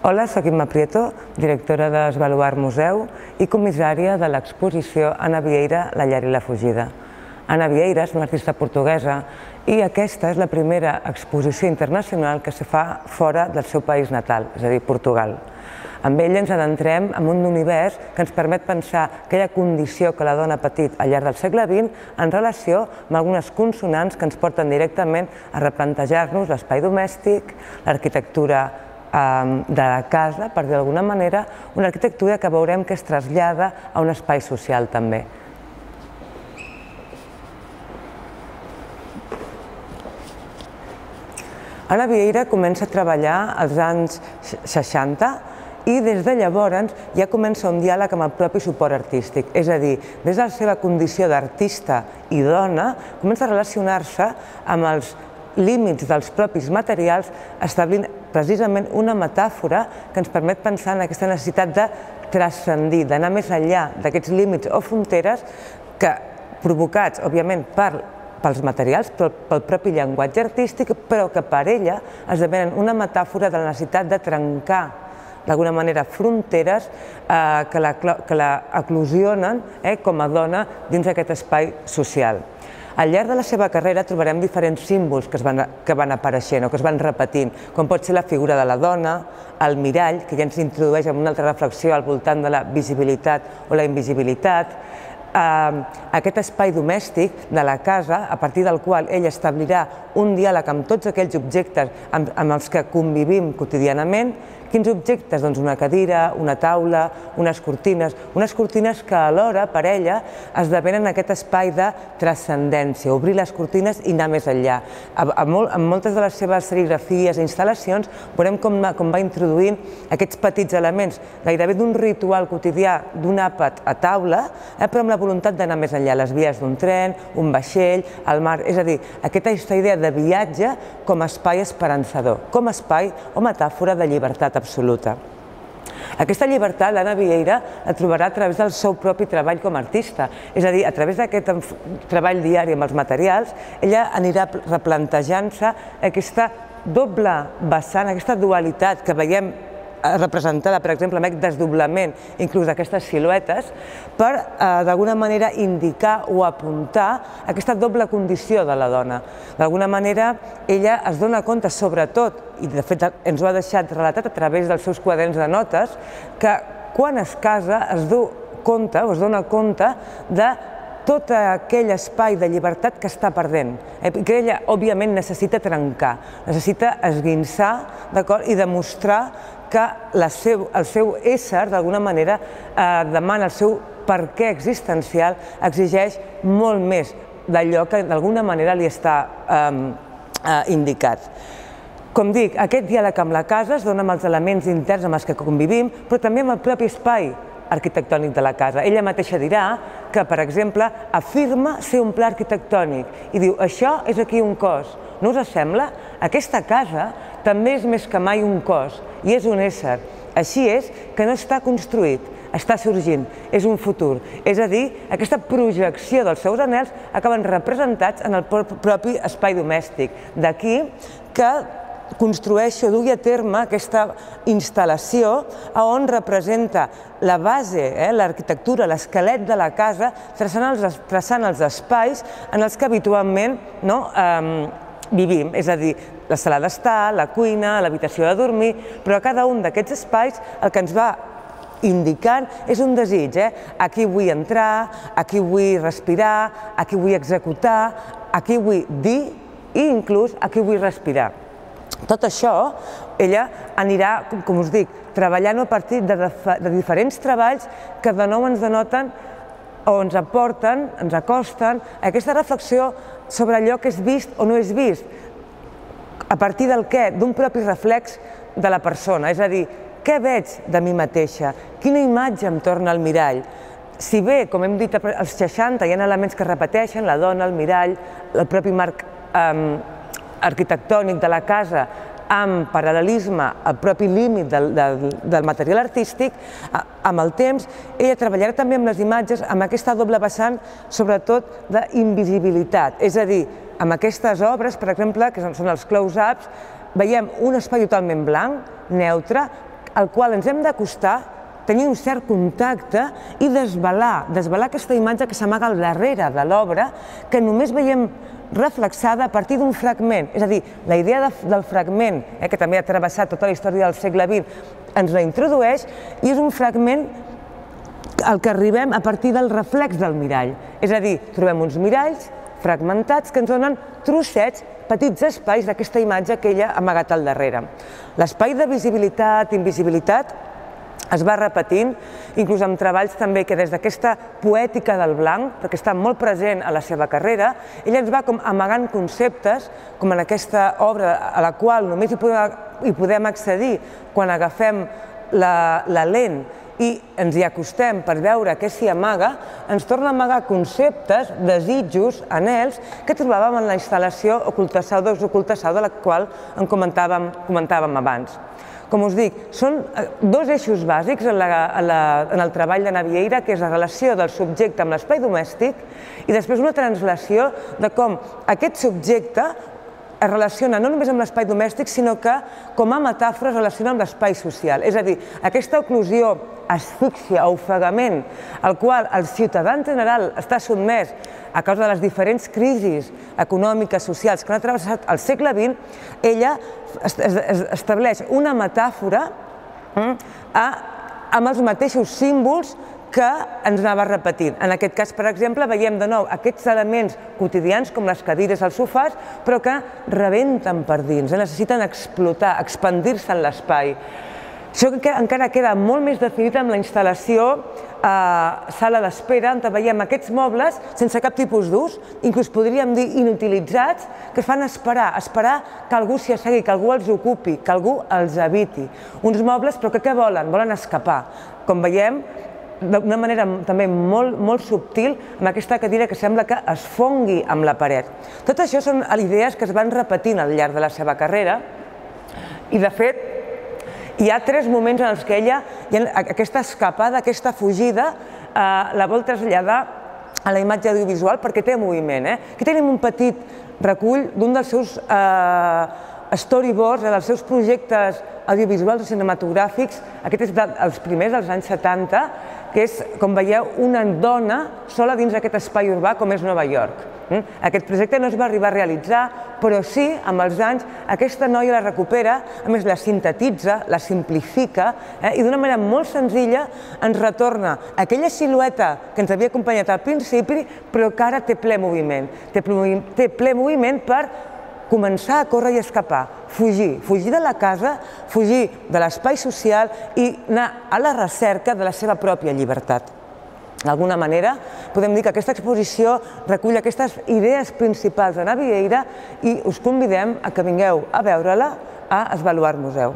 Hola, soc Imma Prieto, directora d'Esbaluar Museu i comissària de l'exposició Ana Vieira, la llar i la fugida. Ana Vieira és una artista portuguesa i aquesta és la primera exposició internacional que se fa fora del seu país natal, és a dir, Portugal. Amb ella ens adentrem en un univers que ens permet pensar aquella condició que la dona ha patit al llarg del segle XX en relació amb algunes consonants que ens porten directament a replantejar-nos l'espai domèstic, l'arquitectura de la casa, per dir d'alguna manera, una arquitectura que veurem que es trasllada a un espai social també. Ana Vieira comença a treballar als anys 60 i des de llavors ja comença un diàleg amb el propi suport artístic, és a dir, des de la seva condició d'artista i dona, comença a relacionar-se amb els límits dels propis materials, establint precisament una metàfora que ens permet pensar en aquesta necessitat de transcendir, d'anar més enllà d'aquests límits o fronteres que, provocats, òbviament, pels materials, pel propi llenguatge artístic, però que per ella esdevenen una metàfora de la necessitat de trencar d'alguna manera fronteres que la eclosionen com a dona dins d'aquest espai social. Al llarg de la seva carrera trobarem diferents símbols que van apareixent o que es van repetint, com pot ser la figura de la dona, el mirall, que ja ens introdueix en una altra reflexió al voltant de la visibilitat o la invisibilitat, aquest espai domèstic de la casa, a partir del qual ella establirà un diàleg amb tots aquells objectes amb els que convivim quotidianament. Quins objectes? Doncs una cadira, una taula, unes cortines que alhora per ella esdevenen aquest espai de transcendència, obrir les cortines i anar més enllà. En moltes de les seves serigrafies i instal·lacions veurem com va introduint aquests petits elements, gairebé d'un ritual quotidià d'un àpat a taula, però amb la voluntat d'anar més enllà, les vies d'un tren, un vaixell, el mar, és a dir, aquesta idea de viatge com a espai esperançador, com a espai o metàfora de llibertat absoluta. Aquesta llibertat l'Ana Vieira la trobarà a través del seu propi treball com a artista, és a dir, a través d'aquest treball diari amb els materials, ella anirà replantejant-se aquesta doble vessant, aquesta dualitat que veiem representada, per exemple, amb aquest desdoblament inclús d'aquestes siluetes, per d'alguna manera indicar o apuntar aquesta doble condició de la dona. D'alguna manera ella es dona compte, sobretot, i de fet ens ho ha deixat relatat a través dels seus quaderns de notes, que quan es casa es dona compte de tot aquell espai de llibertat que està perdent, que ella, òbviament, necessita trencar, necessita esguinçar i demostrar que el seu ésser, d'alguna manera, demana el seu perquè existencial, exigeix molt més d'allò que d'alguna manera li està indicat. Com dic, aquest diàleg amb la casa es dona amb els elements interns amb els que convivim, però també amb el propi espai arquitectònic de la casa. Ella mateixa dirà que, per exemple, afirma ser un pla arquitectònic i diu, això és aquí un cos. No us sembla? Aquesta casa també és més que mai un cos i és un ésser. Així és que no està construït, està sorgint, és un futur. És a dir, aquesta projecció dels seus anhels acaben representats en el propi espai domèstic. D'aquí que construeixo, dugui a terme aquesta instal·lació on representa la base, l'arquitectura, l'esquelet de la casa, traçant els espais en els que habitualment vivim, és a dir, la sala d'estar, la cuina, l'habitació de dormir, però a cada un d'aquests espais el que ens va indicant és un desig, aquí vull entrar, aquí vull respirar, aquí vull executar, aquí vull dir i inclús aquí vull respirar. Tot això, ella anirà, com us dic, treballant a partir de diferents treballs que de nou ens denoten o ens aporten, ens acosten a aquesta reflexió sobre allò que és vist o no és vist, a partir del què? D'un propi reflex de la persona, és a dir, què veig de mi mateixa? Quina imatge em torna al mirall? Si bé, com hem dit, als 60 hi ha elements que es repeteixen, la dona, el mirall, el propi marc arquitectònic de la casa, amb paral·lelisme al propi límit del material artístic, amb el temps ella treballarà també amb les imatges, amb aquesta doble vessant, sobretot d'invisibilitat. És a dir, amb aquestes obres, per exemple, que són els close-ups, veiem un espai totalment blanc, neutre, al qual ens hem d'acostar, tenir un cert contacte i desvelar aquesta imatge que s'amaga al darrere de l'obra, que només veiem reflexada a partir d'un fragment. És a dir, la idea del fragment, que també ha travessat tota la història del segle XX, ens la introdueix i és un fragment al que arribem a partir del reflex del mirall. És a dir, trobem uns miralls fragmentats que ens donen trossets, petits espais d'aquesta imatge que ella ha amagat al darrere. L'espai de visibilitat, invisibilitat, es va repetint, inclús amb treballs també que des d'aquesta poètica del blanc, perquè està molt present a la seva carrera, ella ens va com amagant conceptes, com en aquesta obra a la qual només hi podem accedir quan agafem la lent i ens hi acostem per veure què s'hi amaga, ens torna a amagar conceptes, desitjos, anhels, que trobàvem en la instal·lació Ocultassau de la qual en comentàvem abans. Com us dic, són dos eixos bàsics en el treball de Navieira, que és la relació del subjecte amb l'espai domèstic i després una translació de com aquest subjecte es relaciona no només amb l'espai domèstic, sinó que com a metàfora es relaciona amb l'espai social. És a dir, aquesta oclusió, asfíxia o ofegament al qual el ciutadà en general està sotmès a causa de les diferents crisis econòmiques, socials que han travessat el segle XX, ella estableix una metàfora amb els mateixos símbols que ens anava repetint. En aquest cas, per exemple, veiem de nou aquests elements quotidians, com les cadires, els sofàs, però que rebenten per dins, necessiten explotar, expandir-se en l'espai. Això encara queda molt més definit amb la instal·lació sala d'espera, on veiem aquests mobles sense cap tipus d'ús, inclús podríem dir inutilitzats, que fan esperar que algú s'hi assegui, que algú els ocupi, que algú els habiti. Uns mobles, però que què volen? Volen escapar. Com veiem, d'una manera també molt subtil, amb aquesta cadira que sembla que es fongui amb la paret. Tot això són idees que es van repetint al llarg de la seva carrera i, de fet, hi ha tres moments en els que ella, aquesta escapada, aquesta fugida, la vol traslladar a la imatge audiovisual perquè té moviment. Aquí tenim un petit recull d'un dels seus storyboards, dels seus projectes audiovisuals o cinematogràfics, aquest és dels primers, dels anys 70, que és, com veieu, una dona sola dins d'aquest espai urbà com és Nova York. Aquest projecte no es va arribar a realitzar, però sí, amb els anys, aquesta noia la recupera, a més la sintetitza, la simplifica i d'una manera molt senzilla ens retorna aquella silueta que ens havia acompanyat al principi, però que ara té ple moviment. Té ple moviment per començar a córrer i escapar, fugir de la casa, fugir de l'espai social i anar a la recerca de la seva pròpia llibertat. D'alguna manera, podem dir que aquesta exposició recull aquestes idees principals de Navieira i us convidem a que vingueu a veure-la a Esbaluart Museu.